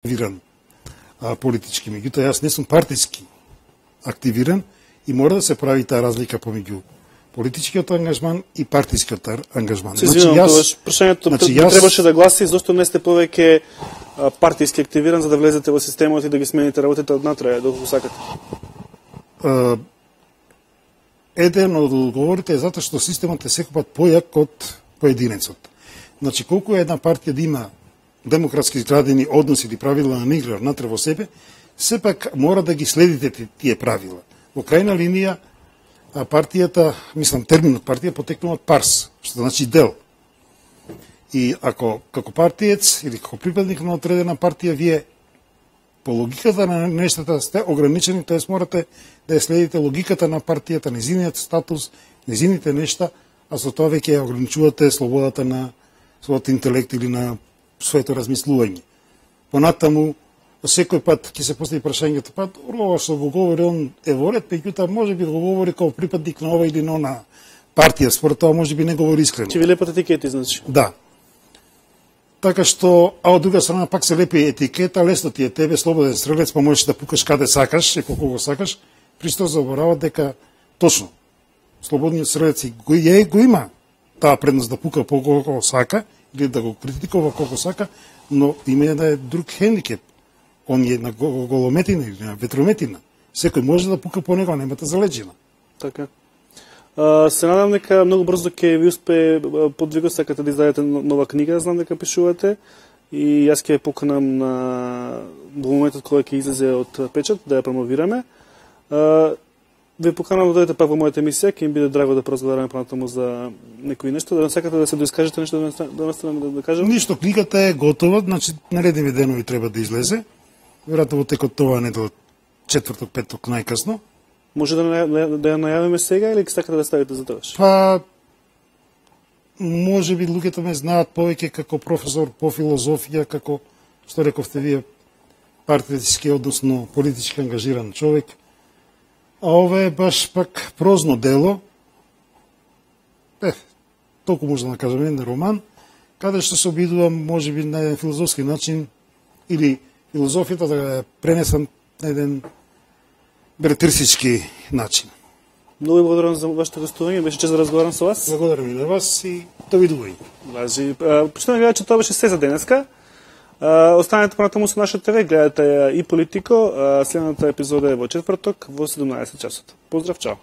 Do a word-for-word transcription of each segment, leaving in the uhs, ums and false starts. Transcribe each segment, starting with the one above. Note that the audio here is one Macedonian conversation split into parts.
активиран а, политички. Меѓутоа, јас не сум партиски активиран и мора да се прави таа разлика помеѓу политичкиот ангажман и партискиот ангажман. Се извинувам, значи, јас, прашањето значи, јас... требаше да гласи зошто не сте повеќе партиски активиран за да влезете во системот и да ги смените работите однатре, доколку сакате? А, еден од одговорите е затоа што системот е секогаш појак од поединецот. Значи, колку една партија да има демократски изградени односи или правила на игра внатре во себе, сепак мора да ги следите тие правила. Во крајна линија, партијата, мислам, терминот партија потекнува од парс, што значи дел. И ако како партиец или како припадник на одредена партија, вие по логиката на нештата сте ограничени, тоест морате да ја следите логиката на партијата, незиниот статус, незините нешта, а со тоа веќе ја ограничувате слободата на својот интелект или на своето размислување. Понатаму, секој пат ќе се постави прашањето, па ова што го говори он е во ред, меѓутоа може би го говори како припадник на ова или на она партија, според тоа може би не говори искрено. Ќе ви лепат етикети, значи. Да. Така што, а од друга страна пак се лепи етикета, лесно ти е тебе, слободен стрелец, па можеш да пукаш каде сакаш и колку го сакаш, присто заборават дека точно слободниот стрелец го, е, го има таа предност да пука по колку сака или да го критикува колку сака, но има една друг хендикеп. Он е на голометина или на ветрометина. Секој може да пука по него, немате залеđина. Така. А, се надам дека многу брзо ќе ви успее подвигот, сакате да издадете нова книга, знам дека пишувате, и јас ќе ја поканам на во моментот кога ќе излезе од печат да ја промовираме. А, ви поканам да дојдете пак во мојата емисија, ќе им биде драго да поразговараме понатаму за некои нешто, да не сакате да се доискажете нешто да наставаме да, да кажам? Ништо, книгата е готова, значи наредни денови треба да излезе. Веројатно во текот тоа недела, четврток, петок најкасно. Може да, да ја најавиме сега или сакате да ставите за тоа? Па, може би луѓето ме знаат повеќе како професор по филозофија, како, што рековте вие, партиски, односно политички ангажиран човек. А ова е баш пак прозно дело, е, толку може да кажем, еден роман, каде што се обидувам, може би, на еден филозофски начин, или филозофијата да ја пренесам на еден бретерсички начин. Многу ви благодарам за вашето гостување, беше чест да разговарам со вас. Благодарам и на вас и довидување. Важи. Почнем да гледате, че тоа беше се за денеска. Останете понатаму со наша ТВ, гледате ја и Политико. Следната епизода е во четврток во седумнаесет часот. Поздрав, чао.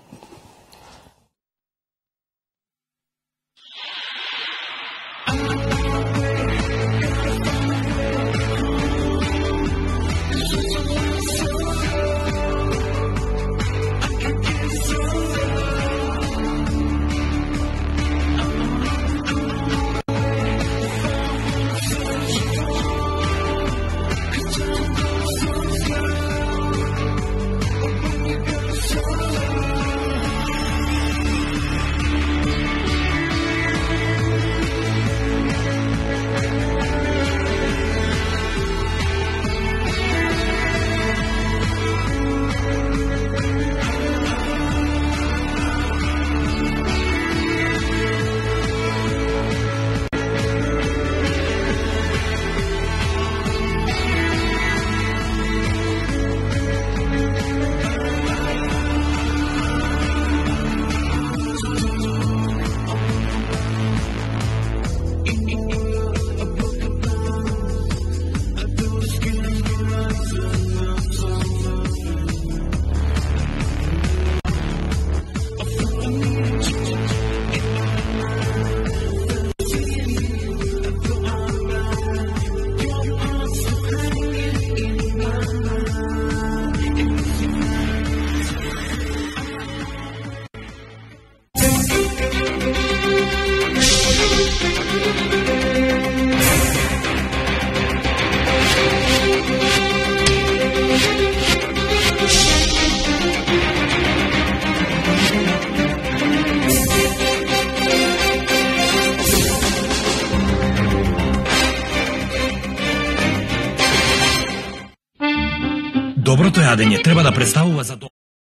Доброто јадење треба да представува за